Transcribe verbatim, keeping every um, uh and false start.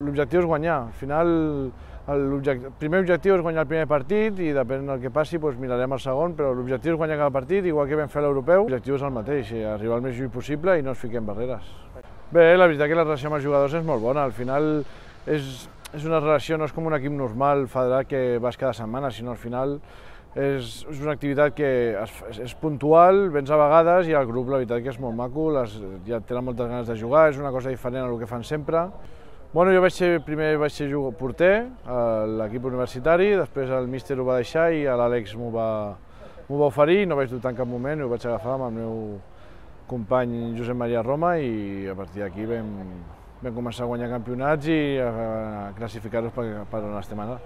L'objectiu és guanyar. Al final, el primer objectiu és guanyar el primer partit i depèn del que passi doncs mirarem el segon, però l'objectiu és guanyar cada partit, igual que vam fer a l'europeu. L'objectiu és el mateix, arribar al més lluny possible i no ens fiquem barreres. Bé, la veritat que la relació amb els jugadors és molt bona. Al final és, és una relació, no és com un equip normal federat que vas cada setmana, sinó al final és, és una activitat que és, és puntual, vens a vegades i el grup la veritat que és molt maco, les, ja tenen moltes ganes de jugar, és una cosa diferent a el que fan sempre. Bueno, jo vaig ser, primer vaig ser porter a l'equip universitari, després el míster ho va deixar i l'Àlex m'ho va, m'ho va oferir, no vaig dubtar en cap moment, ho vaig agafar amb el meu company Josep Maria Roma i a partir d'aquí vam, vam començar a guanyar campionats i a classificar-nos per, per on estem ara.